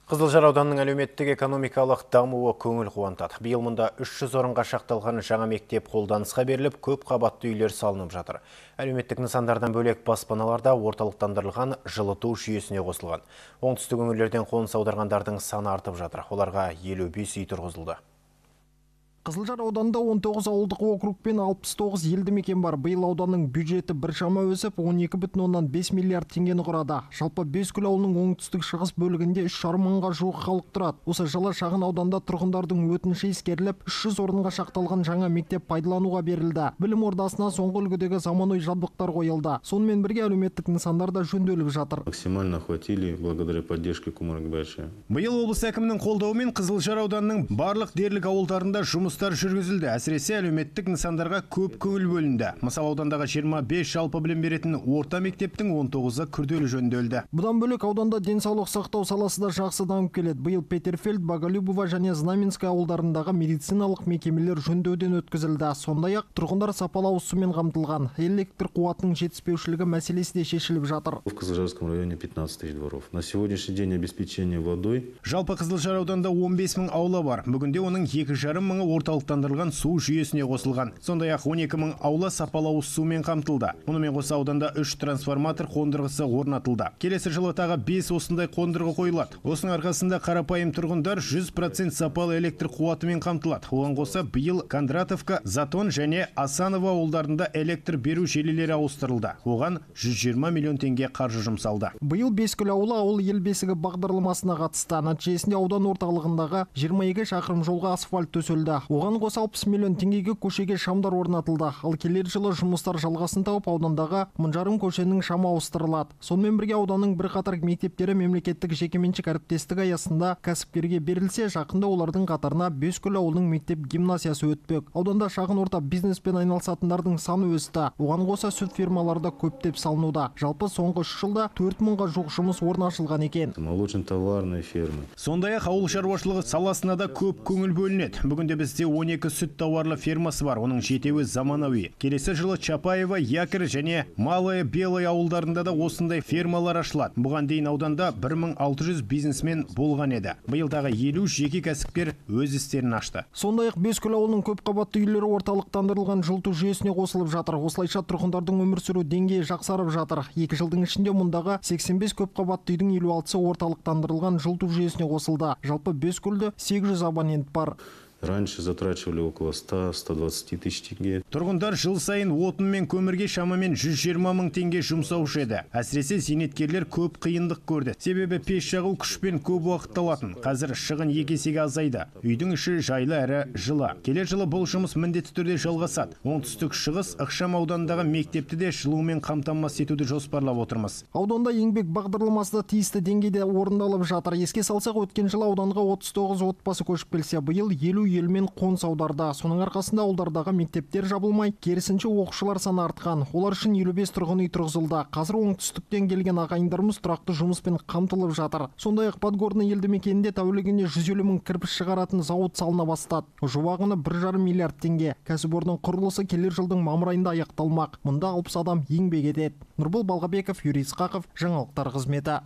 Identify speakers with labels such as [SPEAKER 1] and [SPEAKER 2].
[SPEAKER 1] Қызылжар ауданының әлеуметтік экономикалық дамуы көңіл қуантады. Биыл мұнда 300 орынға шақталған жаңа мектеп қолданысқа беріліп, көп қабатты үйлер салынып жатыр. Әлеуметтік нысандардан бөлек баспаналарда орталықтандырылған жылыту жүйесіне қосылған. Оңтүстік өңірлерден қоныс аударғандардың саны артып жатыр. Оларға 55 үй тұрғызылды.
[SPEAKER 2] Қызылжар ауданында 19 ауылдық округ пен 69 елді мекен бар. Биыл ауданның бюджеті біршама өсіп, 12,5 миллиард теңгені құрады. Жалпы Бескөл ауылының оңтүстік шығыс бөлігінде 3,5 мыңға жуық халық тұрады. Осы жылы шағын ауданда тұрғындардың өтініші ескеріліп, 300 орынға шақталған жаңа мектеп пайдалануға берілді. Білім ордасына соңғы үлгідегі заманауи жабдықтар қойылды. Сонымен бірге әлеуметтік нысандар да жөнделіп жатыр.
[SPEAKER 3] Максимально охватили благодаря поддержке Кумаргбайша.
[SPEAKER 4] Биыл облыс әкімінің қолдауымен Қызылжар ауданының барлық дерлік ауылдарында жұмыстар жүргізілді. Әсіресе әлеуметтік нысандарға көп көңіл бөлінді. Мысал аудандағы 25 жалпы білім беретін орта мектептің 19-ы күрделі жөнделді.
[SPEAKER 2] Бұдан бөлек ауданда денсаулық сақтау саласы да жақсы дамып келеді. Биыл Петерфельд, Боголюбова және Знаменская ауылдарындағы медициналық мекемелер жөндеуден өткізілді. Сондай-ақ тұрғындар сапалы ауыз сумен қамтылған. Электр қуатының жетіспеушілігі мәселесі де шешіліп жатыр.
[SPEAKER 3] В Кызылжарском районе 15 тысяч дворов. На сегодняшний день обеспечение водой.
[SPEAKER 4] Жалпы Қызылжар ауданында 15 мың аула бар. Бүгінде оның 2,5 мыңы орталықтандырылған су жүйесіне қосылған. Сондай-ақ 12 мың аула сапалы ауыз сумен қамтылды. Мұнымен қоса ауданда 3 трансформатор қондырғысы орнатылды. Келесі жылы тағы 5 осындай қондырғы қойылады. Осының арқасында қарапайым тұрғындар 100% сапалы электр қуатымен қамтылады. Оған қоса биыл Кондратовка, Затон және Асанова ауылдарында электр беру желілері ауыстырылды. Оған 120 миллион теңге қаржы жұмсалды.
[SPEAKER 2] Биыл Бескөл ауылы ауыл ел бесігі бағдарламасына қатысты. Нәтижесінде аудан орталығындағы 22 шақырым жолға асфальт төселді. Оған қоса 60 миллион теңгеге көшеге шамдар орнатылды. Ал келер жылы жұмыстар жалғасын тауып аудандағы 1000 көшенің шамы ауыстырылады. Сонымен бірге ауданның бірқатар мектептері мемлекеттік жекеменшік әріптестік аясында кәсіпкерге берілсе, жақында олардың қатарына Бескөл ауылының мектеп гимназиясы өтпек. Ауданда шағын орта бизнеспен айналысатындардың саны өсті. Оған қоса сүт фермаларда көптеп салынуда. Жалпы соңғы 3 жылда 4 мыңға жуық жұмыс орны ашылған екен.
[SPEAKER 3] Молочно-товарная ферма.
[SPEAKER 4] Сондай-ақ ауыл шаруашылығы саласына да көп көңіл бөлінеді. Бүгінде бізде 12 сүт тауарлы фермасы бар, оның 7-і заманауи. Келесі жылы Чапаева, Якір және Малая Белая ауылдарында да осындай фермалар ашылады. Бұған дейін ауданда 1600 бизнесмен болған еді. Биылдағы 50 жеке кәсіпкер өз істерін ашты.
[SPEAKER 2] Сондай-ақ Бескөл ауылының көп қабатты үйлері орталықтандырылған жылыту жүйесіне қосылып жатыр. Осылайша тұрғындардың өмір сүру деңгейі жақсарып жатыр. 2 жылдың ішінде мұндағы 85 көп қабатты үйдің 56-сы орталықтандырылған жылыту жүйесіне қосылды. Жалпы Бескөлде 800 абонент бар.
[SPEAKER 3] Раньше затрачивали около 100-120 тысяч тенге.
[SPEAKER 4] Тұрғындар жыл сайын отын мен көмірге шамамен 120 мың теңге жұмсаушы еді. Әсіресе зейнеткерлер көп қиындық көрді. Себебі пеш жағу күшпен көп уақыт алатын. Қазір шығын 2 есеге азайды. Үйдің іші жайлы әрі жылы. Келер жылы бұл жұмыс міндетті түрде жалғасады. Оңтүстік шығыс ықшам аудандағы мектепті де жылумен қамтамасыз етуді жоспарлап отырмыз.
[SPEAKER 2] Ауданда еңбек бағдарламасы да тиісті деңгейде орындалып жатыр. Еске салсақ, өткен жылы ауданға 39 отбасы көшіп келсе, биыл 50 елмен қоныс аударды. Соның арқасында ауылдардағы мектептер жабылмай, керісінше оқушылар саны артқан. Олар үшін 55 тұрғын үй тұрғызылды. Қазір оңтүстіктен келген ағайындарымыз тұрақты жұмыспен қамтылып жатыр. Сондай-ақ Подгорный елді мекенінде тәулігіне 150 мың кірпіш шығаратын зауыт салына бастады. Жобағына 1,5 миллиард теңге. Кәсіпорынның құрылысы келер жылдың мамыр айында аяқталмақ. Мұнда 60 адам еңбек етеді. Нұрбол Балғабеков, Юрий Исқақов, жаңалықтар қызметі.